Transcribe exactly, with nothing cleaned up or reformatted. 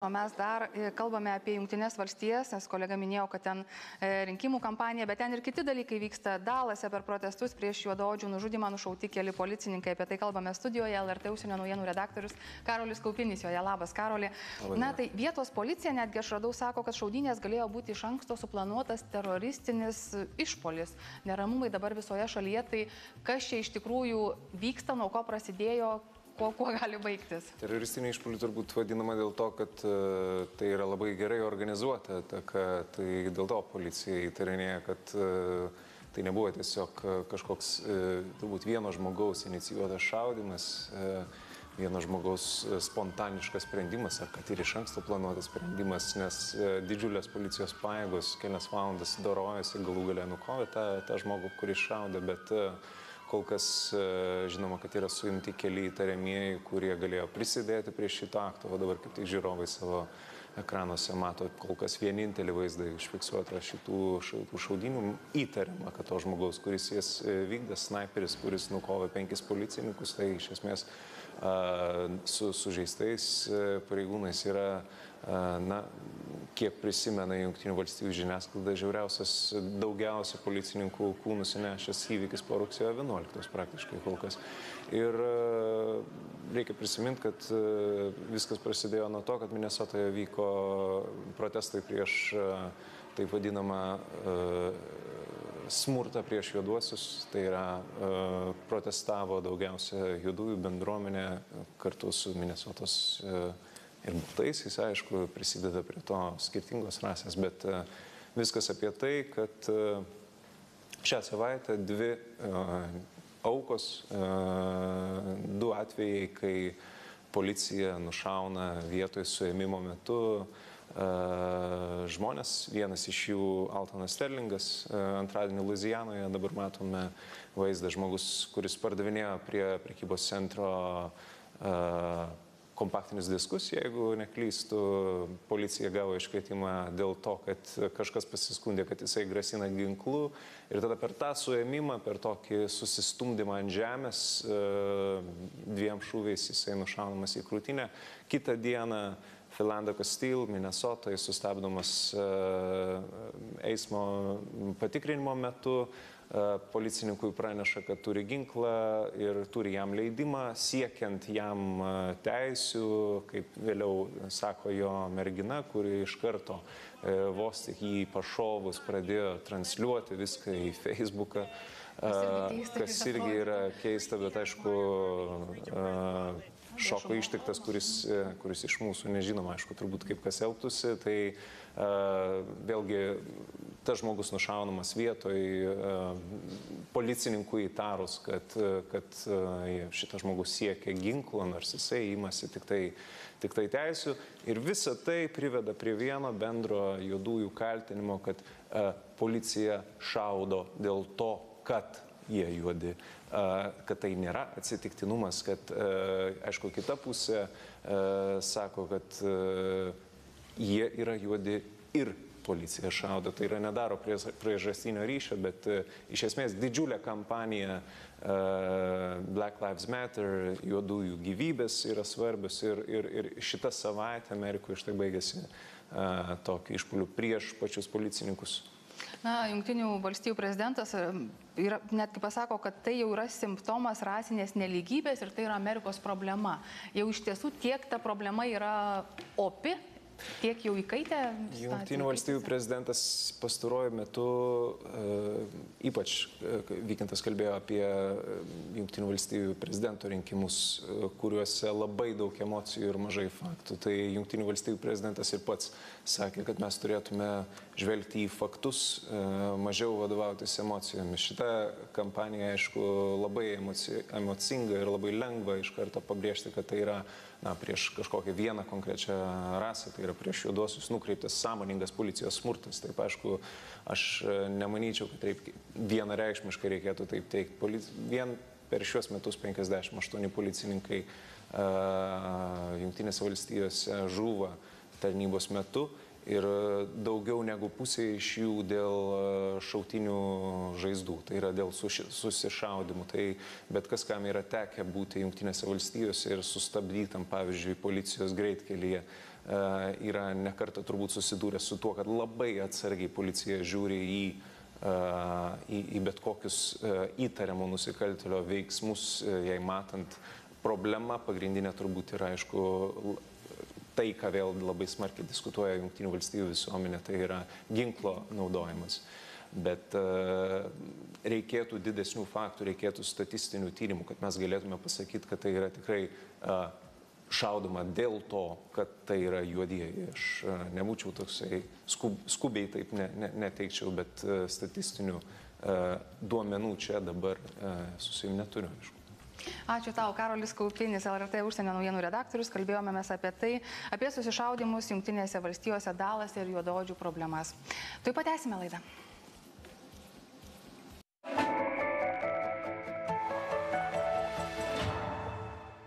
O mes dar kalbame apie Jungtinės valstijas, nes kolega minėjo, kad ten rinkimų kampanija, bet ten ir kiti dalykai vyksta. Dalase per protestus prieš juodaodžių nužudymą nušauti keli policininkai. Apie tai kalbame studijoje. L R T užsienio naujienų redaktorius Karolis Kaupinis. Joje labas, Karoli. Na tai vietos policija netgi aš radau, sako, kad šaudynės galėjo būti iš anksto suplanuotas teroristinis išpolis. Neramumai dabar visoje šalyje. Tai kas čia iš tikrųjų vyksta, nuo ko prasidėjo? Kuo, kuo gali baigtis? Teroristinė išpuolį turbūt vadinama dėl to, kad uh, tai yra labai gerai organizuota, ta, kad, tai dėl to policija įtarinėja, kad uh, tai nebuvo tiesiog uh, kažkoks uh, turbūt vieno žmogaus inicijuotas šaudimas, uh, vieno žmogaus uh, spontaniškas sprendimas, ar kad ir iš anksto planuotas sprendimas, nes uh, didžiulės policijos pajėgos kelias valandas dorojasi, galų galę nukovė tą, tą žmogų, kuris šaudė, bet uh, kol kas žinoma, kad yra suimti keli įtariamieji, kurie galėjo prisidėti prie šito akto, o dabar kaip tik žiūrovai savo ekranuose mato kol kas vienintelį vaizdą išfiksuotą šitų, šitų šaudinių. Įtariama, kad to žmogaus, kuris jas vykdė, snaiperis, kuris nukovė penkis policininkus, tai iš esmės su sužeistais pareigūnais yra, na, kiek prisimena Jungtinių valstybių žiniasklaida, žiauriausias, daugiausia policininkų kūnų sunešęs įvykis po rugsėjo vienuoliktos praktiškai kol kas. Ir reikia prisiminti, kad viskas prasidėjo nuo to, kad Minesotoje vyko protestai prieš taip vadinamą smurtą prieš juoduosius. Tai yra protestavo daugiausia juodųjų bendruomenė kartu su Minesotos ir baltaisiais, aišku, prisideda prie to skirtingos rasės, bet uh, viskas apie tai, kad uh, šią savaitę dvi uh, aukos, uh, du atvejai, kai policija nušauna vietoj suėmimo metu uh, žmonės, vienas iš jų Altonas Sterlingas, uh, antradienį Luizijanoje, dabar matome vaizdą, žmogus, kuris pardavinėjo prie prekybos centro uh, kompaktinius diskus, jeigu neklystų, policija gavo iškvietimą dėl to, kad kažkas pasiskundė, kad jisai grasina ginklu, ir tada per tą suėmimą, per tokį susistumdymą ant žemės, dviem šūviais jisai nušaunamas į krūtinę. Kitą dieną Philando Castile, Minesotoje, sustabdomas eismo patikrinimo metu. Policininkui praneša, kad turi ginklą ir turi jam leidimą, siekiant jam teisių, kaip vėliau sako jo mergina, kuri iš karto vos tik jį pašovus pradėjo transliuoti viską į Facebooką, kas irgi yra keista, bet aišku šoko ištiktas, kuris, kuris iš mūsų nežinoma, aišku, turbūt kaip kas elgtųsi, tai uh, vėlgi tas žmogus nušaunamas vietoj, uh, policininkų įtarus, kad, kad uh, šitas žmogus siekia ginklo, nors jisai imasi tik tai, tik tai teisių, ir visa tai priveda prie vieno bendro juodųjų kaltinimo, kad uh, policija šaudo dėl to, kad jie juodi, kad tai nėra atsitiktinumas, kad, aišku, kita pusė sako, kad jie yra juodi ir policija šaudo. Tai yra nedaro priežastinio ryšio, bet iš esmės didžiulė kampanija Black Lives Matter, juodųjų gyvybės yra svarbios, ir, ir, ir šitą savaitę Amerikoje štai baigėsi tokiu išpuoliu prieš pačius policininkus. Na, Jungtinių valstijų prezidentas yra, netgi pasako, kad tai jau yra simptomas rasinės nelygybės ir tai yra Amerikos problema. Jau iš tiesų tiek ta problema yra opi, tiek jau įkaitę. Jungtinių valstijų prezidentas pastaruoju metu, ypač Vykintas kalbėjo apie Jungtinių valstijų prezidento rinkimus, kuriuose labai daug emocijų ir mažai faktų. Tai Jungtinių valstijų prezidentas ir pats sakė, kad mes turėtume žvelgti į faktus, mažiau vadovautis emocijomis. Šita kampanija, aišku, labai emocinga ir labai lengva iš karto pabrėžti, kad tai yra, na, prieš kažkokią vieną konkrečią rasę, tai yra prieš juoduosius nukreiptas sąmoningas policijos smurtas. Taip, aišku, aš nemanyčiau, kad taip vienareikšmiškai reikėtų taip teikti. Polici... Vien per šios metus penkiasdešimt aštuoni policininkai uh, Jungtinėse valstijose žūva tarnybos metu. Ir daugiau negu pusė iš jų dėl šautinių žaizdų, tai yra dėl susišaudimų. Tai bet kas, kam yra tekę būti Jungtinėse valstijose ir sustabdytam, pavyzdžiui, policijos greitkelyje, yra nekartą turbūt susidūrę su tuo, kad labai atsargiai policija žiūri į Į, į bet kokius įtariamo nusikaltėlio veiksmus, jei matant problemą, pagrindinė turbūt yra, aišku, tai, ką vėl labai smarkiai diskutuoja Jungtinių valstybių visuomenė, tai yra ginklo naudojimas. Bet reikėtų didesnių faktų, reikėtų statistinių tyrimų, kad mes galėtume pasakyti, kad tai yra tikrai šaudoma dėl to, kad tai yra juodieji. Aš nebūčiau toksai skub, skubiai taip ne, ne, neteikčiau, bet statistinių duomenų čia dabar su savimi neturiu. Ačiū tau, Karolis Kaupinis, L R T užsienio naujienų redaktorius. Kalbėjome mes apie tai, apie susišaudimus Jungtinėse valstijose, Dalase ir juodaodžių problemas. Taip pat tęsime laidą.